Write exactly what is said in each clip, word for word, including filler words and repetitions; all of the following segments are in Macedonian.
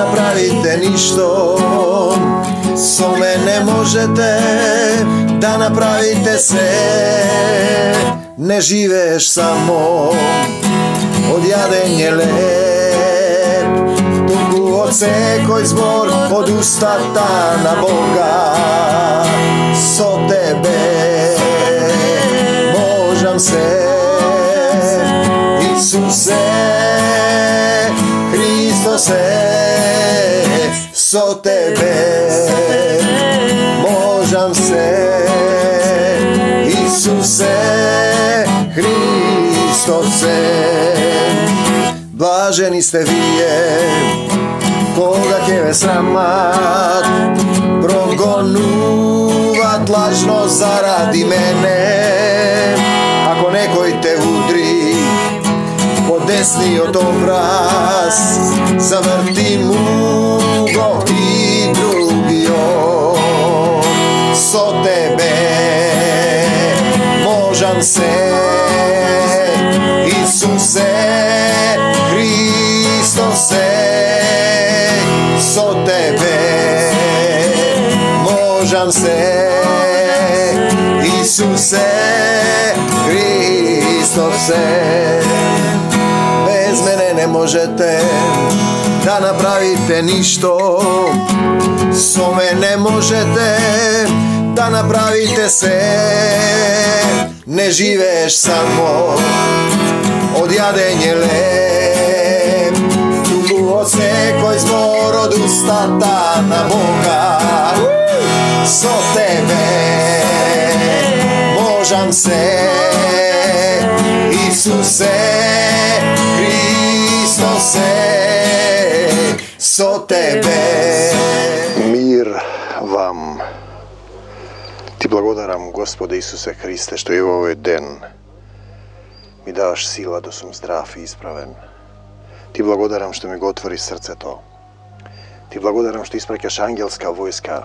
направите ништо, со мене можете да направите се. Не живееш само од јадење леп, туку од секој збор од устата на Бога. Со тебе можам се, Исусе Христосе. Со тебе можам се, Исусе Христосе. Блажени сте вие, кога ќе ве срамат, прогонуват лажно заради мене. Ако некој те удри по десниот образ, заврти му го и другиот. Со тебе можам се, Исусе Христосе. Со тебе можам се, Исусе Христосе. Без мене не можете да направите ништо, со мене можете да направите се. Не живееш само од јадење леп, туку од секој збор од устата на Бога. Со тебе можам се, Исусе Христосе. Со тебе. Мир вам. Ти благодарам, Господе Исусе Христе, што и во овој ден ми даваш сила да сум здрав и исправен. Ти благодарам што ми го отвори срцето. Ти благодарам што испраќаш ангелска војска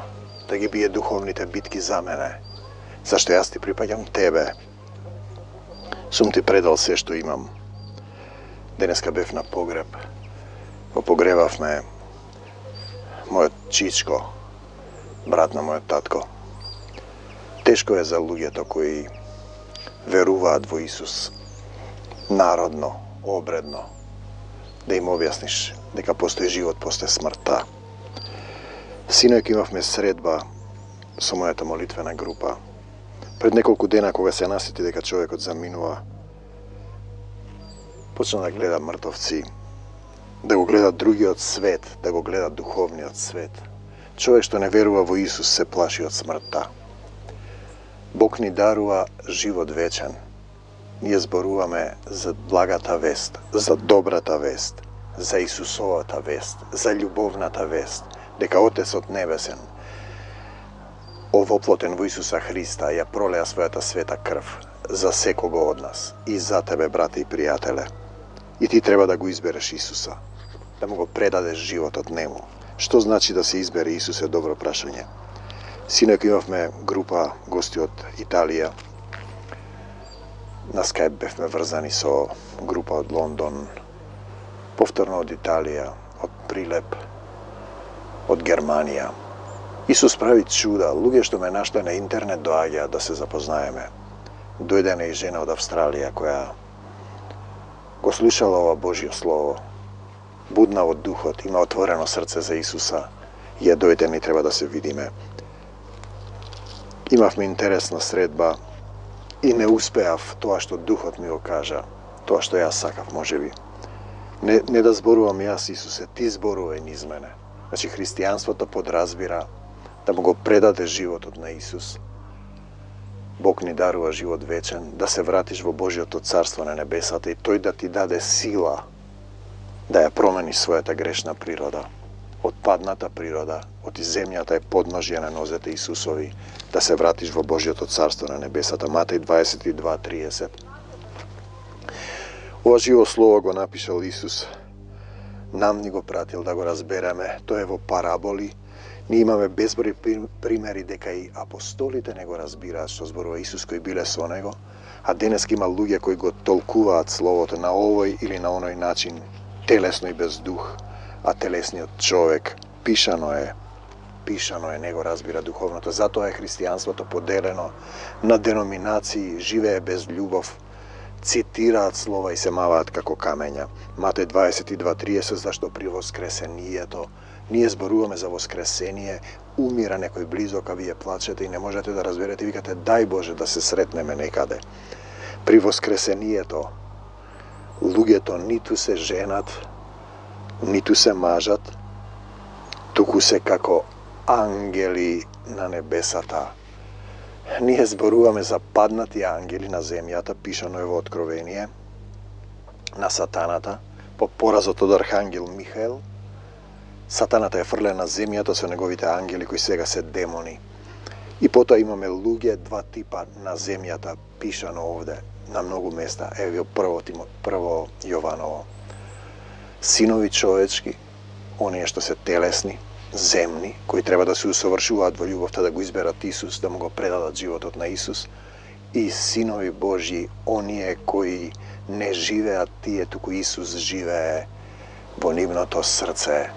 да ги бие духовните битки за мене, зашто јас ти припаѓам тебе. Сум ти предал се што имам. Денеска бев на погреб. Го погребавме мојот чичко, брат на мојот татко. Тешко е за луѓето кои веруваат во Исус, народно, обредно, да им објасниш дека постои живот после смртта. Синојќ имавме средба со мојата молитвена група. Пред неколку дена, кога се насети дека човекот заминува, почна да гледа мртовци, да го гледа другиот свет, да го гледа духовниот свет. Човек што не верува во Исус се плаши од смртта. Бог ни дарува живот вечен. Ние зборуваме за благата вест, за добрата вест, за Исусовата вест, за љубовната вест, дека Отецот Небесен, овоплотен во Исуса Христа, ја пролеа својата света крв за секого од нас и за тебе, брате и пријателе. И ти треба да го избереш Исуса, да му го предадеш животот нему. Што значи да се избере Исус е добро прашање. Синојк имавме група гости од Италија. На Скајп бевме врзани со група од Лондон, повторно од Италија, од Прилеп, од Германија. Исус прави чуда, луѓе што ме нашли на интернет доаѓаат да се запознаеме. Дојде и жена од Австралија која го слушала ова Божјо слово, будна од духот, има отворено срце за Исуса, и ја дојде и треба да се видиме. Имавме интересна средба и не успеав тоа што духот ми го кажа, тоа што јас сакав можеби. Не, не да зборувам јас, Исусе, ти зборувај низ мене. Значи, христијанството подразбира да му го предаде животот на Исус. Бог ни дарува живот вечен, да се вратиш во Божјото царство на небесата и тој да ти даде сила да ја промени својата грешна природа. Од падната природа, од земјата е подножје на нозете Исусови, да се вратиш во Божјото царство на небесата. Матеј дваесет и два триесет. Ова живо слово го напишал Исус. Нам ни го пратил да го разбереме. Тоа е во параболи. Ние имаме безброј примери дека и апостолите не го разбираат што зборува Исус кои биле со него, а денеска има луѓе кои го толкуваат словото на овој или на оној начин, телесно и без дух. а телесниот човек пишано е, пишано е, не го разбира духовното. Затоа е христијанството поделено на деноминации, живее без љубов, цитираат слова и се маваат како камења. Матеј дваесет и два триесет, зашто при воскресението ние зборуваме за воскресение, умира некој близок, а вие плачете и не можете да разберете, викате дај Боже да се сретнеме некаде. При воскресението луѓето ниту се женат, ниту се мажат, туку се како ангели на небесата. Ние зборуваме за паднати ангели на земјата, пишано е во Откровение, на сатаната, по поразот од архангел Михаел. Сатаната е фрлен на земјата со неговите ангели кои сега се демони. И потоа имаме луѓе, два типа на земјата, пишано овде на многу места. Ево прво, прво Јованово. Синови човечки, оние што се телесни, земни, кои треба да се усовршуваат во љубовта, да го изберат Исус, да му го предадат животот на Исус, и синови Божји, оние кои не живеат тие, туку Исус живее во нивното срце.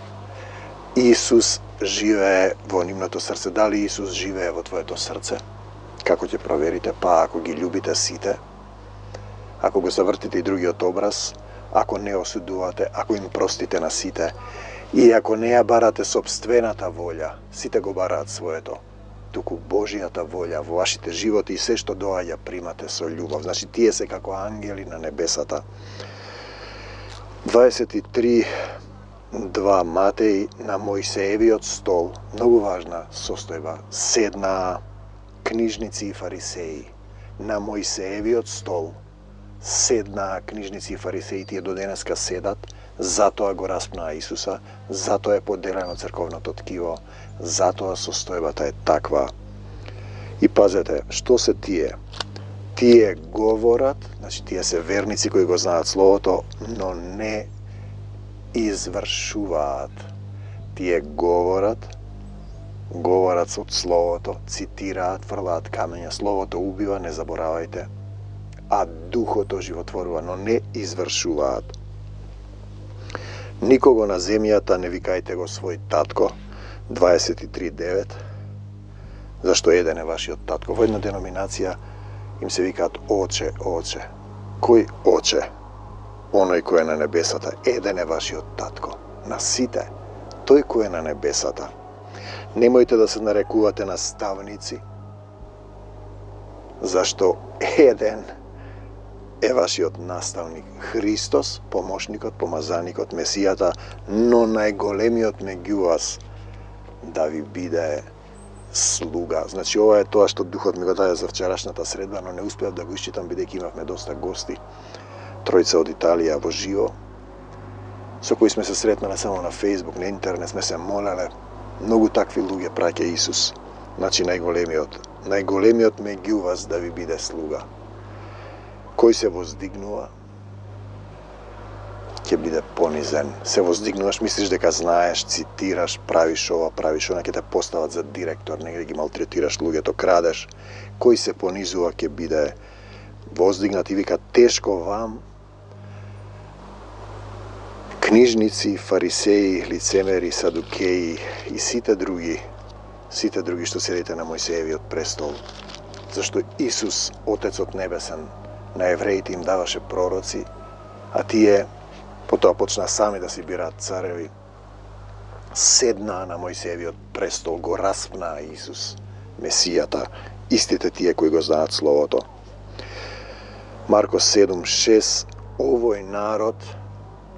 Исус живее во нивното срце. Дали Исус живее во твоето срце? Како ќе проверите? Па ако ги љубите сите, ако го завртите и другиот образ, ако не осудувате, ако им простите на сите, и ако не ја барате собствената волја, сите го бараат своето, туку Божијата волја во вашите животи и се што доаѓа примате со љубов. Значи тие се како ангели на небесата. дваесет и три два Матеј, на Мојсеевиот стол, многу важна состојба, седнаа книжници и фарисеи. На Мојсеевиот стол седнаа книжници и фарисеи, тие до денеска седат, затоа го распнаа Исуса, затоа е поделено црковното ткиво, затоа состојбата е таква. И пазете, што се тие? Тие говорат, значи тие се верници кои го знаат Словото, но не извршуваат. Тие говорат, говорат од Словото, цитираат, фрлаат камења. Словото убива, не заборавајте, а духото животворува, но не извршуваат. Никого на земјата не викајте го свој татко, дваесет и три девет, зашто еден е вашиот татко. Во една деноминација им се викаат оче, оче. Кој оче? Оној кој е на небесата. Еден е вашиот татко. На сите, тој кој е на небесата. Немојте да се нарекувате наставници, зашто еден е вашиот наставник, Христос, помошникот, помазаникот, Месијата, но најголемиот меѓу вас да ви биде слуга. Значи, ова е тоа што Духот ми го даде за вчерашната средба, но не успеав да го исчитам, бидејќи имавме доста гости, тројца од Италија во живо, со кои сме се сретнале само на Фејсбук, на интернет, сме се молеле. Многу такви луѓе праќа Исус. Значи, најголемиот, најголемиот меѓу вас да ви биде слуга. Кој се воздигнува, ќе биде понизен. Се воздигнуваш, мислиш дека знаеш, цитираш, правиш ова, правиш она, ќе те постават за директор, негде ги малтретираш луѓето, крадеш. Кој се понизува, ќе биде воздигнат и вика тешко вам, книжници, фарисеи, лицемери, садукеи и сите други, сите други што седите на Мојсеевиот престол. Зашто Исус, Отецот Небесен, на евреите им даваше пророци, а тие потоа почнаа сами да си бираат цареви. Седнаа на Мојсеевиот престол, го распнаа Исус, Месијата, истите тие кои го знаат Словото. Марко седум шест, овој народ,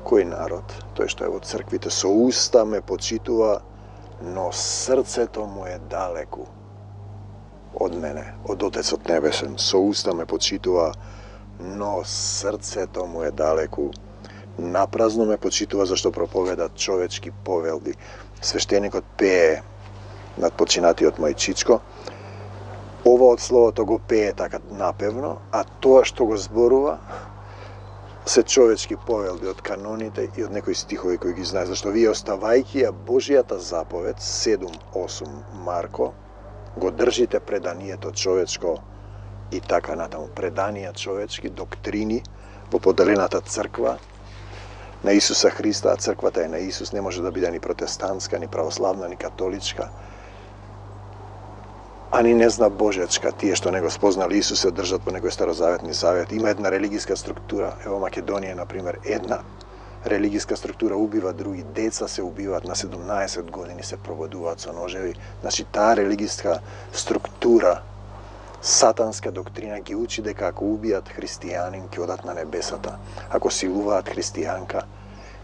кој народ? Тој што е во црквите, со уста ме почитува, но срцето му е далеку од мене, од Отецот Небесен. Со уста ме почитува, но срцето му е далеку. Напразно ме почитува зашто проповедат човечки повелби. Свештеникот пее над починатиот мој чичко. Ова од Словото го пее така напевно, а тоа што го зборува се човечки повелби од каноните и од некои стихови кои ги знае. Зашто вие оставајќи ја Божијата заповед, седум осум Марко, го држите преданието човечко и така натаму. Преданија човечки, доктрини во поделената црква, на Исуса Христа, а црквата е на Исус, не може да биде ни протестантска, ни православна, ни католичка, а ни не зна Божечка. Тие што не го спознали Исус се држат по некој старозаветни завет. Има една религиска структура, ево Македонија, например, една религиска структура убива други, деца се убиваат на седумнаесет години, се проводуваат со ножеви. Значи, таа религиска структура, сатанска доктрина ги учи дека ако убијат христијанин, ќе одат на небесата. Ако силуваат христијанка,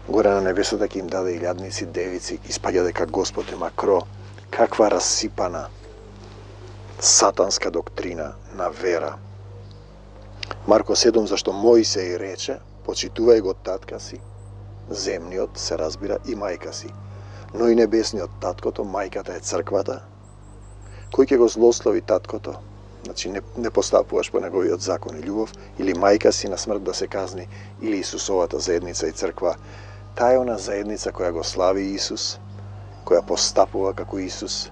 горе на небесата ќе им даде илјадници девици, испаѓа дека Господ е макро. Каква расипана сатанска доктрина на вера. Марко седум, зашто Мојсей рече, почитувај го татка си, земниот, се разбира, и мајка си. Но и небесниот таткото, мајката е црквата. Кој ќе го злослови таткото? Значи, не, не постапуваш по неговиот закон и љубов, или мајка си на смрт да се казни, или Исусовата заедница и црква. Таа е она заедница која го слави Исус, која постапува како Исус,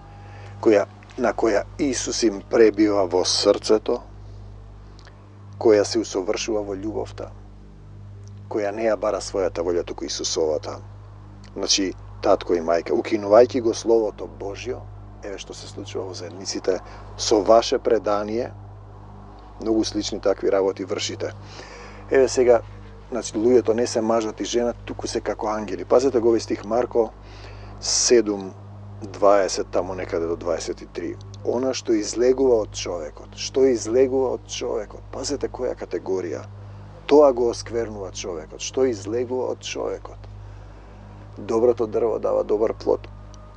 која, на која Исус им пребива во срцето, која се усовршува во љубовта, која не ја бара својата волја, туку Исусовата. Значи, татко и мајка, укинувајќи го Словото Божјо, еве што се случува во заедниците, со ваше предание, многу слични такви работи вршите. Еве сега, значи, луѓето не се мажот и жена, туку се како ангели. Пазете го овој стих Марко седум, дваесет, таму некаде до дваесет и три. Она што излегува од човекот. Што излегува од човекот? Пазете која категорија. Тоа го осквернува човекот. Што излегува од човекот? Доброто дрво дава добар плод.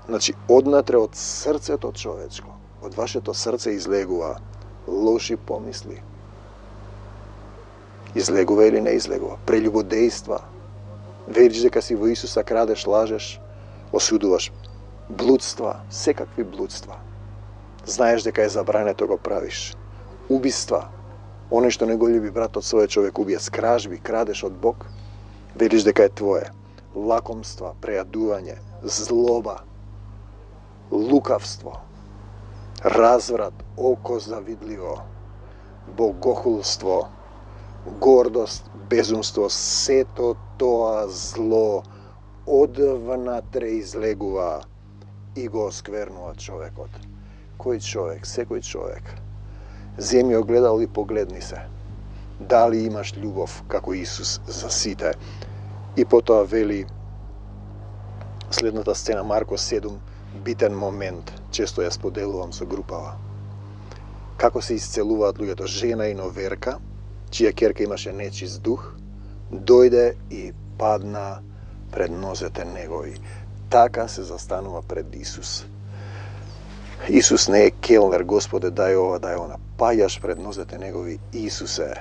Значи, однатре од срцето човечко, од вашето срце излегува лоши помисли. Излегува или не излегува? Прелюбодејства. Вериш дека си во Исуса, крадеш, лажеш, осудуваш. Блудства, секакви блудства. Знаеш дека е забрането, го правиш. Убиства. Оној што не го љуби братот свој, човек убија. Скражби, крадеш од Бог. Вериш дека е твое. Лакомства, прејадување, злоба, лукавство, разврат, око завидливо, богохулство, гордост, безумство, сето тоа зло одвнатре излегува и го осквернува човекот. Кој човек? Секој човек. Земи огледал и погледни се. Дали имаш љубов како Исус за сите? И потоа вели следната сцена, Марко седум, битен момент, често ја споделувам со групава. Како се исцелуваат луѓето? Жена и новерка, чија ќерка имаше нечист дух, дојде и падна пред нозете негови. Така се застанува пред Исус. Исус не е келнер, Господе, дај ова, дај она. Паѓаш пред нозете негови. Исусе,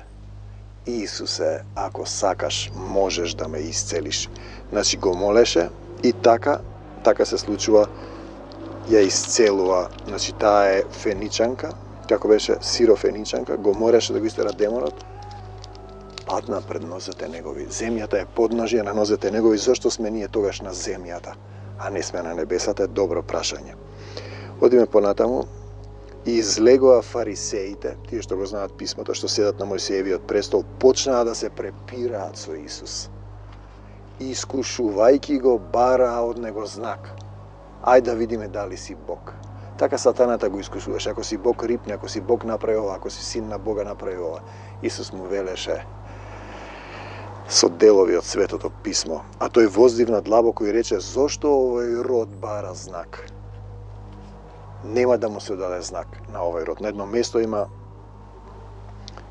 Исусе, ако сакаш, можеш да ме исцелиш. Значи го молеше и така, така се случува, ја исцелува. Значи таа е феничанка, како беше сирофеничанка, го мореше да го истера демонот, падна пред нозете негови. Земјата е подножие на нозете негови. Зошто сме ние тогаш на земјата, а не сме на небесата? Е добро прашање. Одиме понатаму. И излегоа фарисеите, тие што го знаат писмото, што седат на Мојсиевиот престол, почнаа да се препираат со Исус. Искушувајќи го, бараа од него знак. Ај да видиме дали си Бог. Така сатаната го искушуваш. Ако си Бог, рипне, ако си Бог, направи ова, ако си син на Бога, направи ова. Исус му велеше со делови од Светото писмо. А тој воздивна длабоко и рече: зошто овој род бара знак? Нема да му се даде знак на овој род. На едно место има,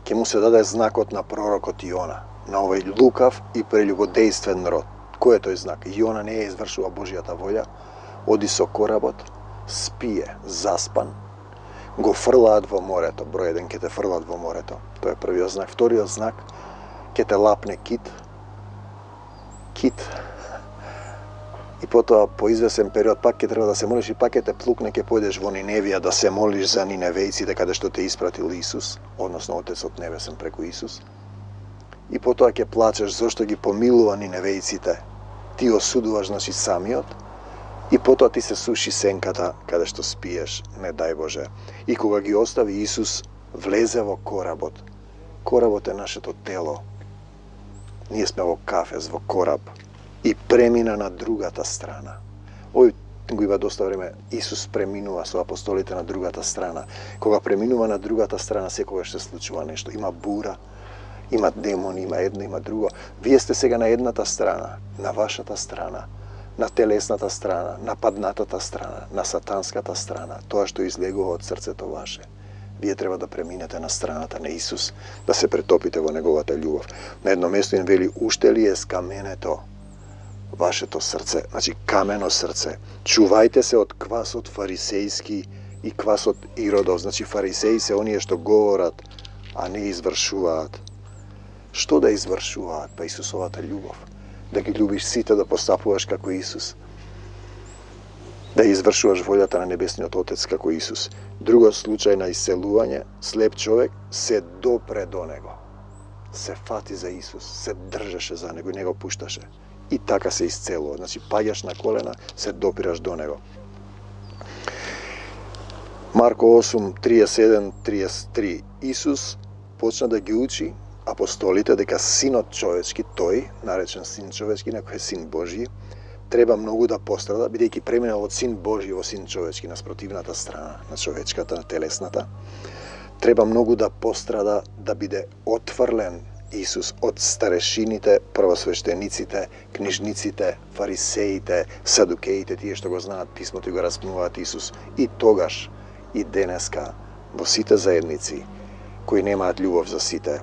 ќе му се даде знакот на пророкот Јона, на овој лукав и прелюбодејствен род. Кој е тој знак? Јона не ја извршува Божјата волја, оди со коработ, спие, заспан, го фрлаат во морето. Број еден, ќе те фрлаат во морето. Тоа е првиот знак. Вториот знак, ќе те лапне кит. Кит. И потоа, по извесен период, пак ќе треба да се молиш и пак ќе те плукне, ќе појдеш во Ниневија да се молиш за ниневејците каде што те испратил Исус, односно Отецот Небесен преку Исус. И потоа ќе плачеш зашто ги помилува ниневејците. Ти осудуваш, значи, самиот, и потоа ти се суши сенката каде што спиеш, не дај Боже. И кога ги остави Исус, влезе во коработ. Коработ е нашето тело. Ние сме во кафез, во кораб. и премина на другата страна. Овој го има доста време. Исус преминува со апостолите на другата страна. Кога преминува на другата страна, секогаш се случува нешто. Има бура, има демони, има едно, има друго. Вие сте сега на едната страна, на вашата страна, на телесната страна, на паднатата страна, на сатанската страна, тоа што излегува од срцето ваше. Вие треба да преминете на страната на Исус, да се претопите во неговата љубов. На едно место им вели, уште ли е скаменето вашето срце, значи камено срце. Чувајте се од квасот фарисејски и квасот Иродов. Значи фарисеи се оние што говорат, а не извршуваат. Што да извршуваат? Па Исусовата љубов. Да ги љубиш сите, да постапуваш како Исус. Да извршуваш волјата на Небесниот Отец како Исус. Друго случај на исцелување, слеп човек се допре до него. Се фати за Исус, се држеше за него и не го пушташе. И така се исцелува. Значи, паѓаш на колена, се допираш до него. Марко осум, триесет и седум, триесет и три. Исус почна да ги учи апостолите дека Синот човечки, тој, наречен Син човечки, инаку е Син Божи, треба многу да пострада, бидејќи преминал од Син Божи во Син човечки, на спротивната страна, на човечката, на телесната. Треба многу да пострада, да биде отфрлен Исус од старешините, првосвештениците, книжниците, фарисеите, садукеите, тие што го знаат писмото и го распнуваат Исус. И тогаш, и денеска, во сите заедници, кои немаат љубов за сите,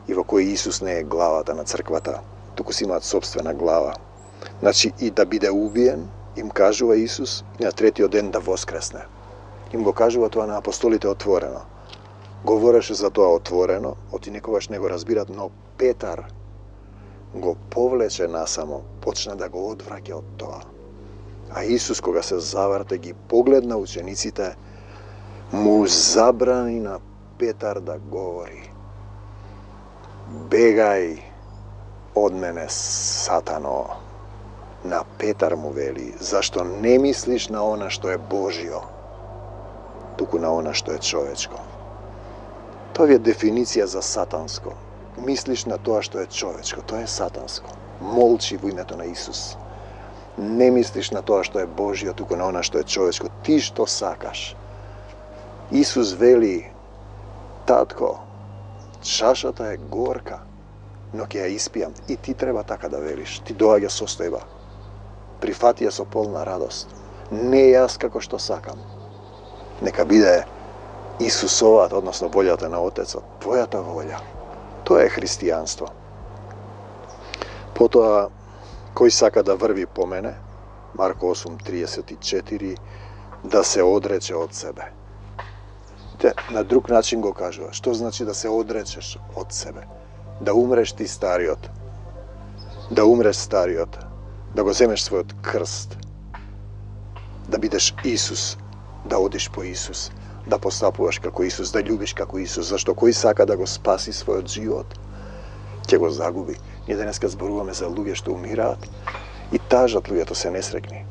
и во кои Исус не е главата на црквата, туку си имаат собствена глава. Значи, и да биде убиен, им кажува Исус, и на третиот ден да воскресне. Им го кажува тоа на апостолите отворено. Говореше за тоа отворено, оти некогаш не го разбират, но Петар го повлече насамо, почна да го одвраќа од тоа. А Исус, кога се заврте, ги погледна учениците, му забрани на Петар да говори. Бегај од мене, Сатано. На Петар му вели, зашто не мислиш на она што е Божио, туку на она што е човечко. Тоа е дефиниција за сатанско. Мислиш на тоа што е човечко, тоа е сатанско. Молчи во името на Исус. Не мислиш на тоа што е Божио, туку на она што е човечко. Ти што сакаш. Исус вели, татко, чашата е горка, но ќе ја испијам. И ти треба така да велиш. Ти доаѓа состојба. Прифати ја со полна радост. Не јас како што сакам. Нека биде Исусовата, односно волјата на Отецот, твојата волја. Тоа е христијанство. Потоа, кој сака да врви по мене, Марко осум, триесет и четири, да се одрече од себе. Те, на друг начин го кажува. Што значи да се одречеш од себе? Да умреш ти стариот. Да умреш стариот. Да го земеш својот крст. Да бидеш Исус. Да одиш по Исус. Да постапуваш како Исус, да љубиш како Исус, зашто кој сака да го спаси својот живот, ќе го загуби. Ние денеска зборуваме за луѓе што умираат и тажат луѓето се несрекни.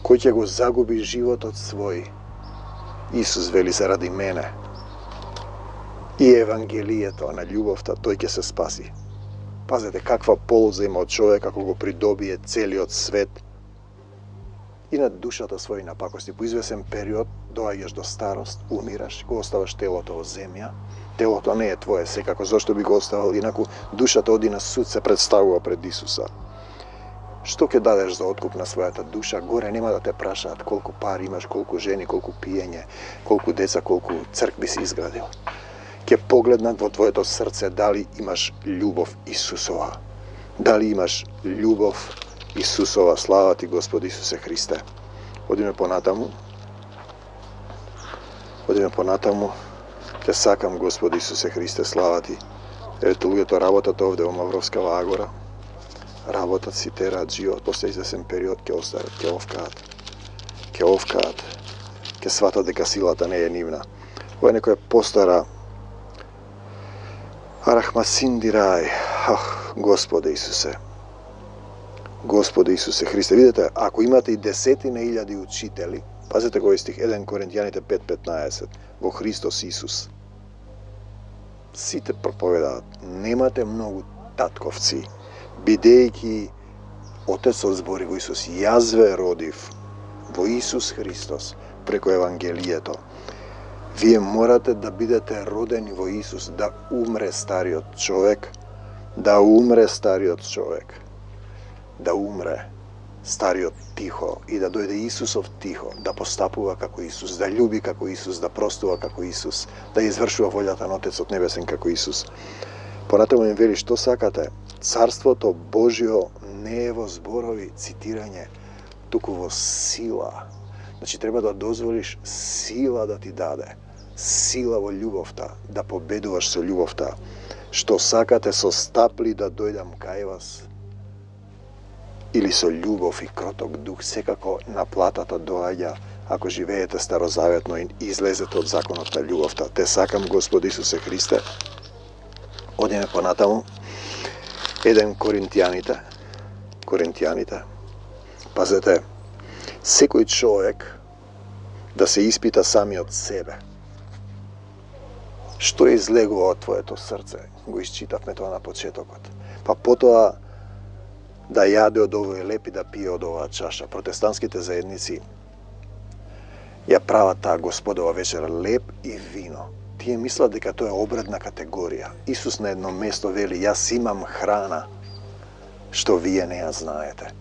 Кој ќе го загуби животот свој, Исус вели заради мене и евангелието на љубовта, тој ќе се спаси. Пазете каква полза има од човек ако го придобие целиот свет и на душата своја напакости. По извесен период доаѓаш до старост, умираш, го оставаш телото во земја. Телото не е твое секако, зашто би го оставил, инаку душата оди на суд, се представува пред Исуса. Што ќе дадеш за откуп на својата душа? Горе нема да те прашаат колку пари имаш, колку жени, колку пиење, колку деца, колку цркви си изградил. Ќе погледнат во твоето срце дали имаш љубов Исусова. Дали имаш љубов Исусова. Слава ти, Господи Исусе Христе. Одиме понатаму. Одиме понатаму. Те сакам, Господи Исусе Христе, слава ти. Ето луѓето работат овде во Мавровскава Агора. Работат си, тераат живот, после извесен период ќе остават, ќе овкаат. Ќе овкаат. Ќе сватат дека силата не е нивна. Ова е некоја постара Арахмасиндирај. Ах, Господе Исусе. Господе Исусе Христе. Видете, ако имате и десетина илјади учители, пазете кој стих, еден Коринтијаните пет петнаесет, во Христос Исус. Сите проповедаат, немате многу татковци, бидејќи Отецот збори во Исус, јас ве родив во Исус Христос преку Евангелието. Вие морате да бидете родени во Исус, да умре стариот човек, да умре стариот човек, да умре стариот тихо и да дојде Исусов тихо, да постапува како Исус, да љуби како Исус, да простува како Исус, да извршува волјата на Отецот Небесен како Исус. Понатаму им вели, што сакате? Царството Божјо не е во зборови, цитирање, туку во сила. Значи, треба да дозволиш сила да ти даде. Сила во љубовта, да победуваш со љубовта. Што сакате со стапли да дојдам кај вас, или со љубов и кроток дух, секако наплатата доаѓа ако живеете старозаветно и излезете од законот на љубовта. Те сакам, Господи Исусе Христе. Одиме понатаму. Еден Коринтијаните. Коринтијаните. Пазете, секој човек да се испита самиот себе. Што излегува од твоето срце? Го исчитавме тоа на почетокот. Па потоа да јаде од овој леп и да пие од оваа чаша. Протестантските заедници ја прават таа Господова вечера леп и вино. Тие мислат дека тоа е обредна категорија. Исус на едно место вели, јас имам храна што вие не ја знаете.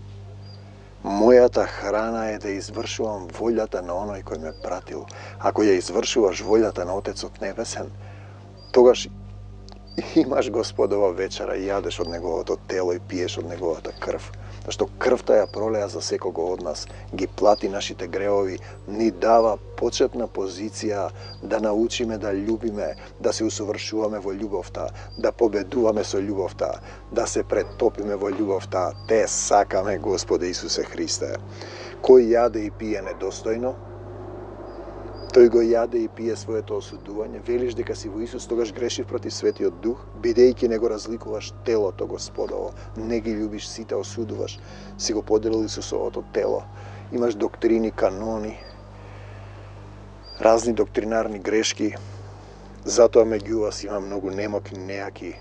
Мојата храна е да извршувам волјата на оној кој ме пратил. Ако ја извршуваш волјата на Отецот Небесен, тогаш имаш Господова вечера и јадеш од неговото тело и пиеш од неговата крв. Зашто крвта ја пролеа за секого од нас, ги плати нашите греови, ни дава почетна позиција да научиме да љубиме, да се усовршуваме во љубовта, да победуваме со љубовта, да се претопиме во љубовта. Те сакаме, Господе Исусе Христе. Кој јаде и пие недостојно, тој го јаде и пие своето осудување. Велиш дека си во Исус, тогаш грешив против Светиот Дух, бидејќи не го разликуваш телото Господово, не ги љубиш сите, осудуваш, си го поделил Исусовото тело. Имаш доктрини, канони, разни доктринарни грешки, затоа меѓу вас има многу немоки, нејаки,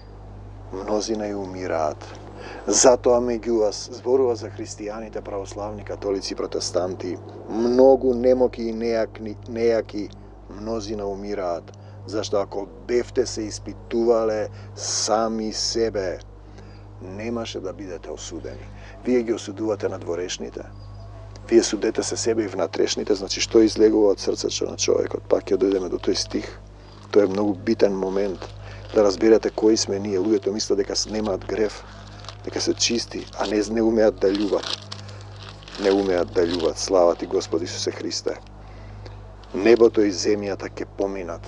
мнозина и умираат. Затоа меѓу вас, зборува за христијаните, православни, католици, протестанти, многу немоки и нејаки, нејаки мнозина умираат. Зашто ако бевте се испитувале сами себе, немаше да бидете осудени. Вие ги осудувате надворешните. Вие судете се себе и внатрешните, значи што излегува од срцето на човекот. Пак ќе дојдеме до тој стих. Тоа е многу битен момент да разберете кои сме ние. Луѓето мислат дека немаат грев, дека се чисти, а не, не умеат да љубат. Не умеат да љубат. Слава ти, Господи Исусе Христе. Небото и земјата ќе поминат.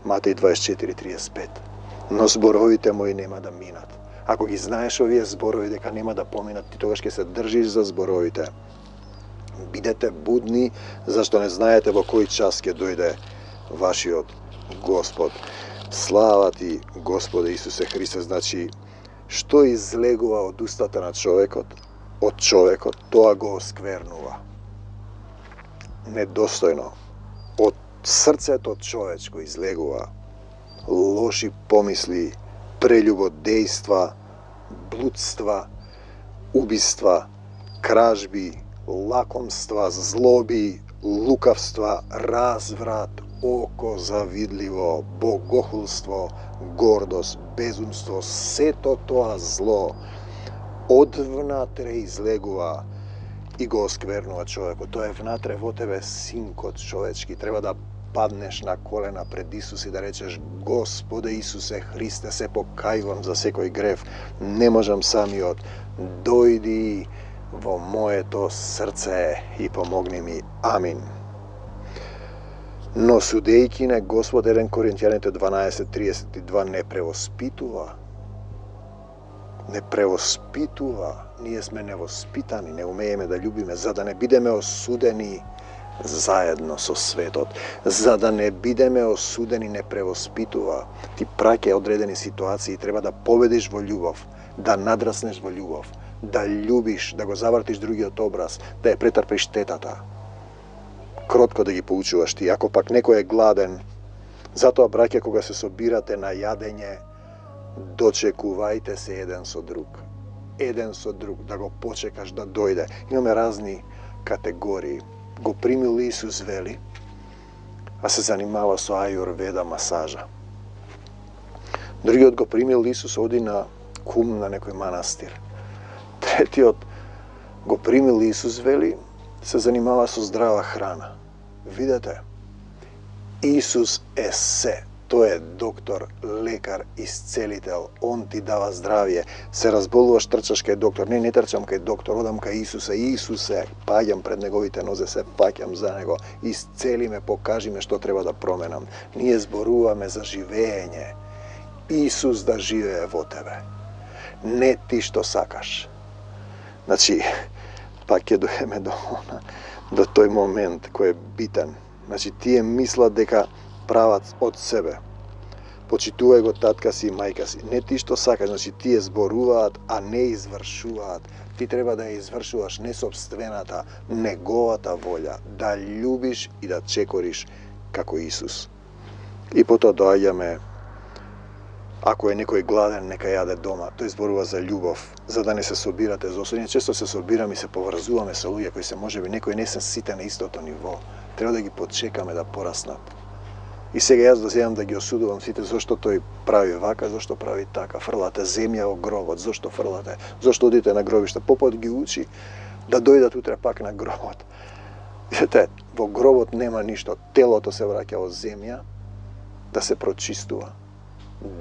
Матеј дваесет и четири триесет и пет. Но зборовите мои нема да минат. Ако ги знаеш овие зборови дека нема да поминат, ти тогаш ќе се држиш за зборовите. Бидете будни, зашто не знаете во кој час ќе дојде вашиот Господ. Слава ти, Господе Исусе Христе. Значи, што излегува од устата на човекот, од човекот, тоа го осквернува. Недостојно. Од срцето човечко излегува лоши помисли, прелюбодејства, блудства, убиства, кражби, лакомства, злоби, лукавства, разврат, око завидливо, богохулство, гордост, безумство, сето тоа зло од внатре излегува и го осквернува човекот. Тоа е внатре во тебе, синкот човечки. Треба да паднеш на колена пред Исус и да речеш: Господе Исусе Христе, се покајувам за секој грев. Не можам самиот. Дојди во моето срце и помогни ми. Амин. Но судејќи не Господ, еден Коринтијаните дванаесет триесет и два, не превоспитува. Не превоспитува. Ние сме невоспитани, не умееме да љубиме, за да не бидеме осудени заедно со светот. За да не бидеме осудени, не превоспитува. Ти праќа одредени ситуации, треба да победиш во љубов, да надраснеш во љубов, да љубиш, да го завртиш другиот образ, да ја претрпиш тетата. Кротко да ги поучуваш ти. Ако пак некој е гладен, затоа, браќа, кога се собирате на јадење, дочекувајте се еден со друг. еден со друг, да го почекаш да дојде. Имаме разни категории. Го примил Исус, вели, а се занимава со ајурведа масажа. Другиот го примил Исус, оди на кум на некој манастир. Третиот го примил Исус, вели, се занимава со здрава храна. Видете, Исус е се. Тој е доктор, лекар, исцелител. Он ти дава здравје. Се разболуваш, трчаш кај доктор. Не, не трчам кај доктор, одам кај Исусе. Исусе, паѓам пред неговите нозе, се паќам за него. Исцели ме, покажи ме што треба да променам. Ние зборуваме за живење. Исус да живее во тебе. Не ти што сакаш. Значи, пак ќе дојдеме до она, до тој момент кој е битен. Значи, тие мислат дека прават од себе. Почитувај го татка си и мајка си. Не ти што сакаш, значи тие зборуваат, а не извршуваат. Ти треба да ја извршуваш не собствената, неговата волја, да љубиш и да чекориш како Исус. И потоа доаѓаме, ако е некој гладен, нека јаде дома. Тој зборува за љубов, за да не се собирате за осудење. Често се собираме и се поврзуваме со луѓе кои се можеби некои не се сите на истото ниво. Треба да ги почекаме да пораснат. И сега јас да земам да ги осудувам сите зошто тој прави вака, зошто прави така. Фрлате земја во гробот, зошто фрлате? Зошто одите на гробиште? Попот ги учи да дојдат утре пак на гробот. Видете, во гробот нема ништо. Телото се враќа во земја да се прочистува.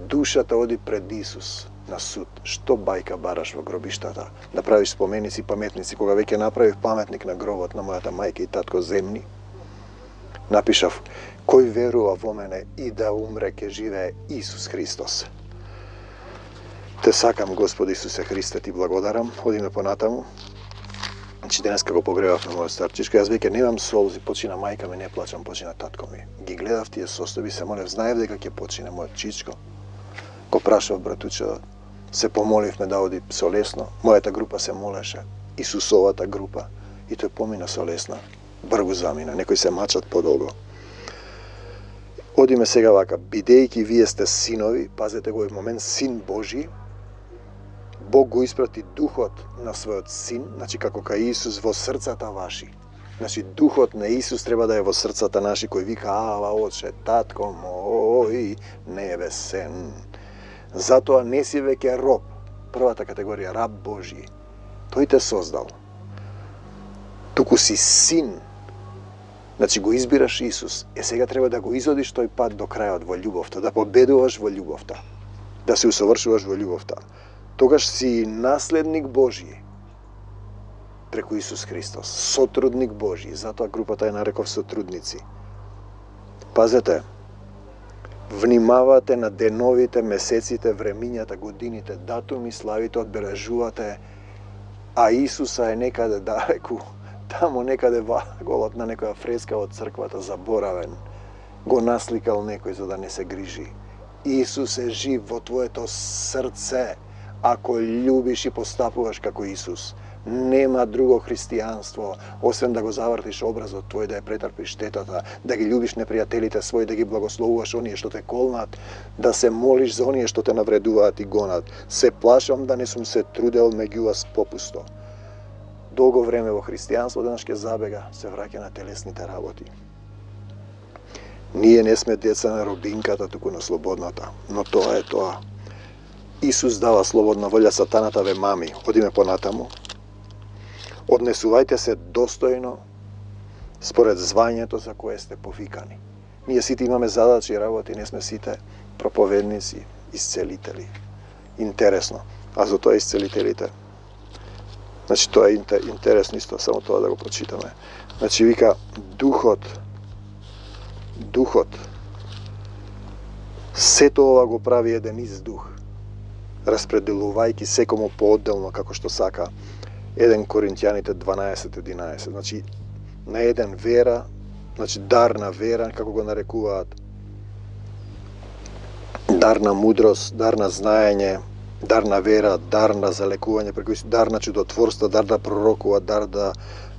Душата оди пред Исус на суд. Што бајка бараш во гробиштата? Да правиш споменици, паметници. Кога веќе направив паметник на гробот на мојата мајка и татко земни, напишав: кој верува во мене и да умре ке живее Исус Христос. Те сакам, Господи Исусе Христе, ти благодарам. Одиме понатаму. Значи денеска го погребав на мојот старчишко. Јас веќе немам солзи, почина мајка ми, не плачам, почина татко ми. Ги гледав тие состојби, се молев, знаев дека ќе почине мојот чичко. Го прашав братуче, се помоливме да оди со лесно. Мојата група се молеше, Исусовата група, и тој помина со лесно. Бргу замина, некои се мачат подолго. Одиме сега вака, бидејќи вие сте синови, пазете го, овој момент, син Божи, Бог го испрати духот на својот син, значи како кај Исус во срцата ваши. Значи духот на Исус треба да е во срцата наши, кој вика: ава, отче, татко мој небесен. Затоа не си веќе роб, првата категорија, раб Божи. Тој те создал. Туку си син. Значи го избираш Исус. Е сега треба да го изодиш тој пат до крајот во љубовта, да победуваш во љубовта, да се усовршуваш во љубовта. Тогаш си наследник Божи преку Исус Христос, сотрудник Божи. Затоа групата е нареков сотрудници. Пазете, внимавате на деновите, месеците, времињата, годините, датуми, славите, одбележувате, а Исуса е некаде далеку, таму некаде ваголот на некоја фреска од црквата, заборавен. Го насликал некој за да не се грижи. Исус е жив во твоето срце, ако љубиш и постапуваш како Исус. Нема друго христијанство, освен да го завртиш образот твој, да ја претрпиш штетата, да ги љубиш непријателите своји, да ги благословуваш оние што те колнат, да се молиш за оние што те навредуваат и гонат. Се плашам да не сум се трудел меѓу вас попусто. Долго време во христијанство денес ќе забега, се враќа на телесните работи. Ние не сме деца на робинката, туку на слободната, но тоа е тоа. Исус дава слободна волја, сатаната ве мами. Одиме понатаму. Однесувајте се достојно според звањето за кое сте повикани. Ние сите имаме задачи и работи, не сме сите проповедници, исцелители. Интересно. А за тоа исцелителите. Значи тоа е интересно исто, само тоа да го прочитаме. Значи вика духот, духот, сето ова го прави еден издух, распределувајќи секому поодделно како што сака. еден Коринќаните дванаесет единаесет. Значи на еден вера, значи дар на вера, како го нарекуваат, дар на мудрост, дар на знаење, дар на вера, дар на залекување, преку дар на чудотворство, дар да пророкува, дар да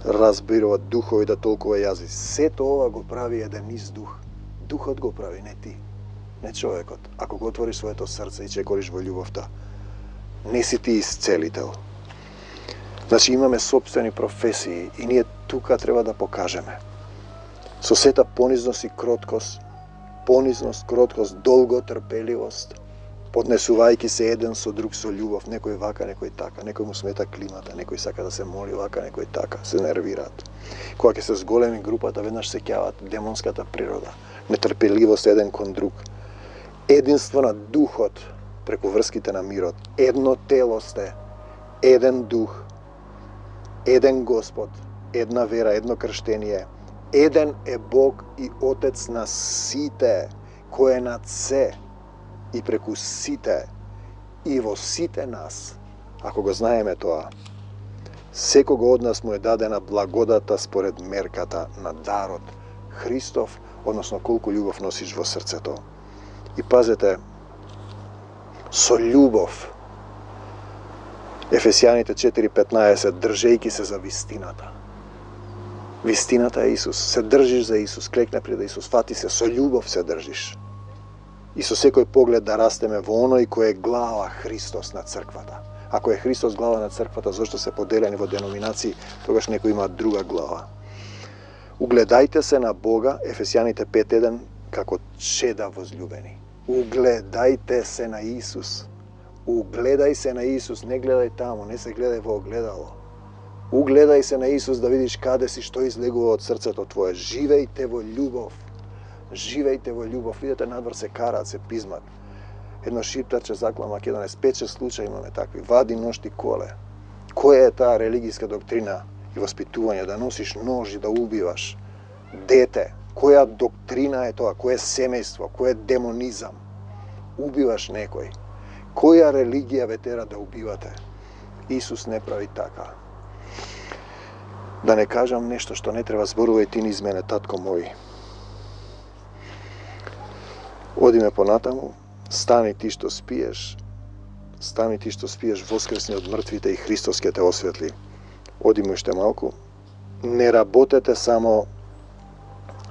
разбирува духови, да толкува јазици. Сето ова го прави еден издух. Духот го прави, не ти, не човекот. Ако го отвориш своето срце и чекориш во љубовта, не си ти исцелител. Значи имаме собствени професии и ние тука треба да покажеме. Со сета понизност и кроткост, понизност, кроткост, долго трпеливост, поднесувајќи се еден со друг со љубов, некој вака, некој така, некој му смета климата, некој сака да се моли вака, некој така, се нервираат. Кога ќе се зголеми групата, веднаш се ќават демонската природа, нетрпеливост еден кон друг, единство на духот преку врските на мирот, едно тело сте, еден дух, еден Господ, една вера, едно крштение, еден е Бог и Отец на сите, кој е над се, и преку сите, и во сите нас, ако го знаеме тоа, секого од нас му е дадена благодата според мерката на дарот Христов, односно колку љубов носиш во срцето. И пазете, со љубов, Ефесијаните четири петнаесет, држејќи се за вистината. Вистината е Исус. Се држиш за Исус, клекне пред Исус, фати се, со љубов се држиш. И со секој поглед да растеме во оној кој е глава Христос на црквата. Ако е Христос глава на црквата, зашто се поделени во деноминации, тогаш некој има друга глава. Угледајте се на Бога, Ефесијаните пет еден, како чеда возљубени. Угледајте се на Исус. Угледај се на Исус, не гледај таму, не се гледај во огледало. Угледај се на Исус да видиш каде си, што излегува од срцето твое. Живејте во љубов. Живејте во љубов. Видете, надвор се караат, се пизмат. Едно шиптарче закла Македонец, пет-шест случаи имаме такви. Вади нож и коле. Која е таа религијска доктрина и воспитување, да носиш нож и да убиваш дете? Која доктрина е тоа? Кој е семејство? Кој е демонизам? Убиваш некој. Која религија ве тера да убивате? Исус не прави така. Да не кажам нешто што не треба, зборувај ти низ мене, татко мој. Одиме понатаму, стани ти што спиеш, стани ти што спиеш, воскресни од мртвите и Христос ќе те осветли. Одиме уште малку. Не работете само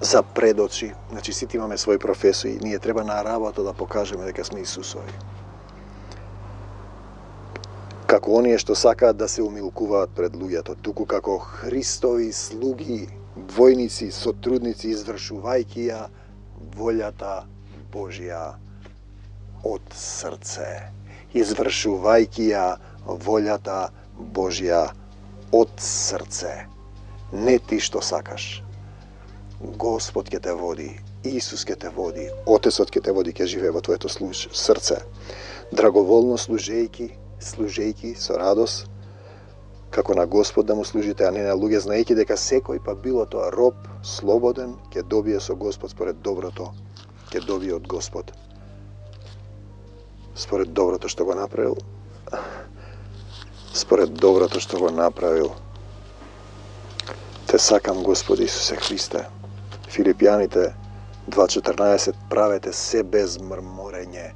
за пред очи. Значи, сите имаме своји професии. Ние треба на работа да покажеме дека сме Исусови. Како оние што сакаат да се умилкуваат пред луѓето, туку како Христови слуги, војници, сотрудници, извршувајќи ја волјата Божја од срце. Извршувајќи ја волјата Божја од срце. Не ти што сакаш. Господ ќе те води, Исус ќе те води, Отецот ќе те води, ќе живее во твоето служ, срце. Драговолно служејќи, служејќи со радост, како на Господ да му служите, а не на луѓе, знаејќи дека секој, па било тоа роб, слободен, ќе добие со Господ според доброто, ќе добие од Господ. Според доброто што го направил, според доброто што го направил. Те сакам, Господи Исусе Христе. Филипјаните два четрнаесет, правете се без мрморење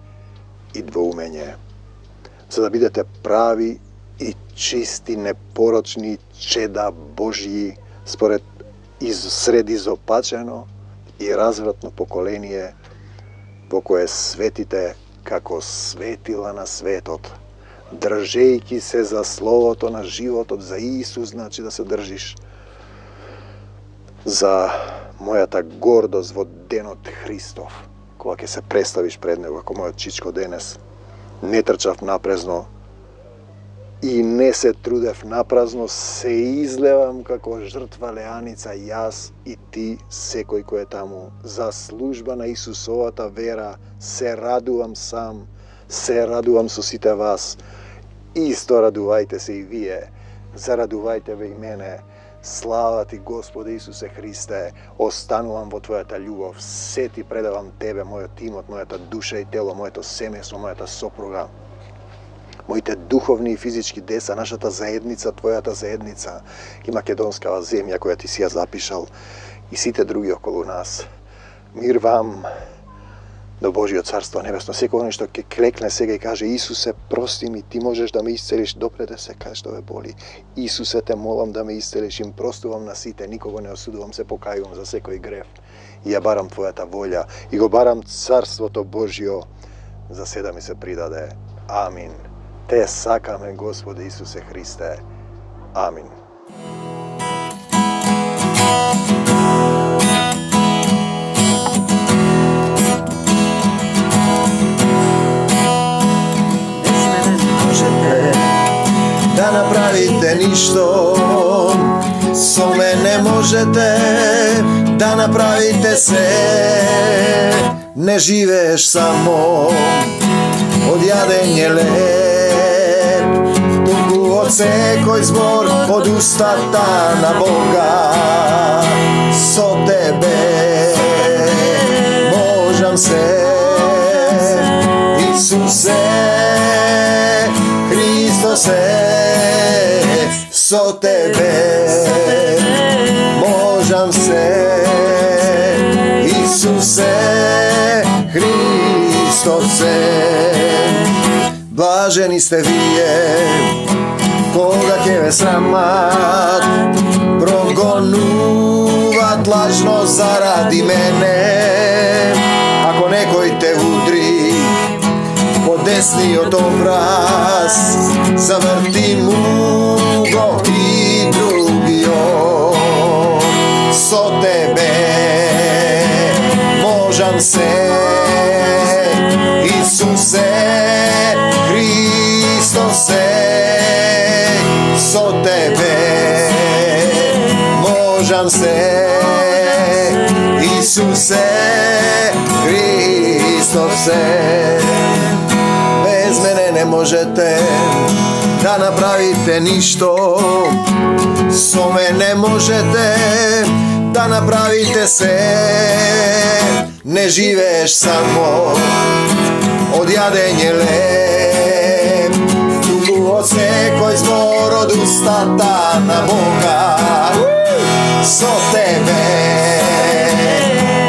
и двоумење, за да бидете прави и чисти, непорочни чеда Божји, според из сред изопачено и развратно поколение, во кое светите како светила на светот, држејќи се за словото на животот, за Исус, значи да се држиш, за мојата гордост во денот Христов, кога ќе се представиш пред него, како мојот чичко денес. Не трчав напразно и не се трудев напразно, се излевам како жртва леаница, јас и ти, секој кој е таму, за служба на Исусовата вера. Се радувам сам, се радувам со сите вас. Исто радувајте се и вие, зарадувајте ве и мене. Слава ти, Господи Исусе Христе, останувам во Твојата љубов, се ти предавам Тебе, мојот тимот, мојата душа и тело, моето семејство, мојата сопруга, моите духовни и физички деца, нашата заедница, Твојата заедница и македонскава земја која ти си ја запишал и сите други околу нас. Мир вам до Божиот Царство Небесно. Секој оној што ќе клекне сега и каже: Исусе, прости ми, ти можеш да ме исцелиш, допреде се кај што ве боли. Исусе, те молам да ме исцелиш, им простувам на сите, никого не осудувам, се покајувам за секој грев. И ја барам Твојата волја и го барам Царството Божјо, за се да ми се придаде. Амин. Те сакаме, Господи Исусе Христе. Амин. Да направите ништо, со мене можете да направите се. Не живееш само од јадење леп, туку од секој збор од устата на Бога. Со тебе можам се, Исусе Христосе. Со тебе можам се, Исусе Христосе. Блажени сте вие кога ќе ве срамат, прогонуват лажно заради мене. Ако некој те удри по десниот образ, заврти му го и другиот. Со тебе можам се, Исусе Христосе. Со тебе можам се, Исусе Христосе. Без мене не можете да направите ништо, со мене можете да направите се. Не живееш само од јадење леп, туку од секој збор од устата на Бога. Со тебе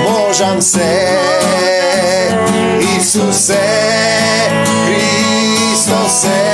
можам се, Исусе Христосе.